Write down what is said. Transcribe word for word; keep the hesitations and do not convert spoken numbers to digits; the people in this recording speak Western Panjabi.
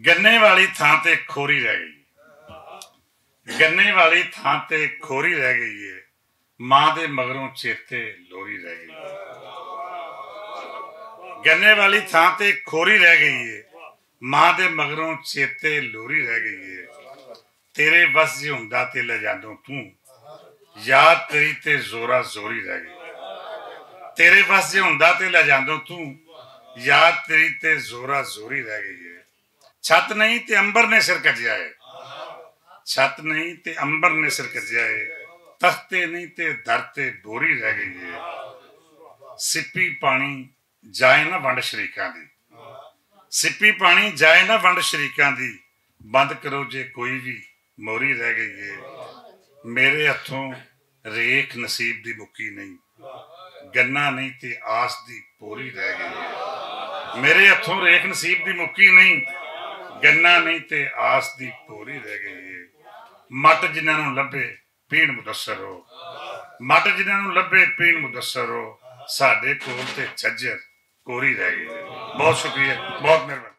گنے والی تھاں تے کھوری رہ گئی۔ گنے والی تھاں تے کھوری رہ گئی ہے۔ ماں دے مگروں چیتے لوری رہ گئی ہے۔ گنے والی تھاں تے کھوری رہ گئی ہے۔ ماں دے مگروں چیتے لوری رہ گئی ہے۔ تیرے وس جے ہوندا تے لے جاندوں توں، یاد تیری تے زورا زوری رہ گئی۔ تیرے وس جے ہوندا تے لے جاندوں توں، یاد تیری تے زورا زوری رہ گئی ہے۔ چھت نہیں تے امبر نے سر کجیا ہے۔ چھت نہیں تے امبر نے سر کجیا ہے۔ تختے نہیں تے در تے بوری رہ گئی ہے۔ سپی پانی جائے نہ ونڈ شریکاں دی۔ سپی پانی جائے نہ ونڈ شریکاں دی۔ بند کرو جے کوئی وی موری رہ گئی ہے۔ میرے ہتھوں ریکھ نصیب دی مکی نہیں۔ گنا نہیں تے آس دی پوری رہ گئی ہے۔ میرے ہتھوں ریکھ نصیب دی مکی نہیں۔ گنا نہیں تے آس دی پوری رہ گئی ہے۔ مٹ جنہاں نوں لبھے پین مدثر ہو۔ مٹ جنہاں نوں لبھے پین مدثر ہو۔ ساڈے کول تے جھجر کوری رہ گئی ہے۔ بہت شکریہ، بہت مہربانی۔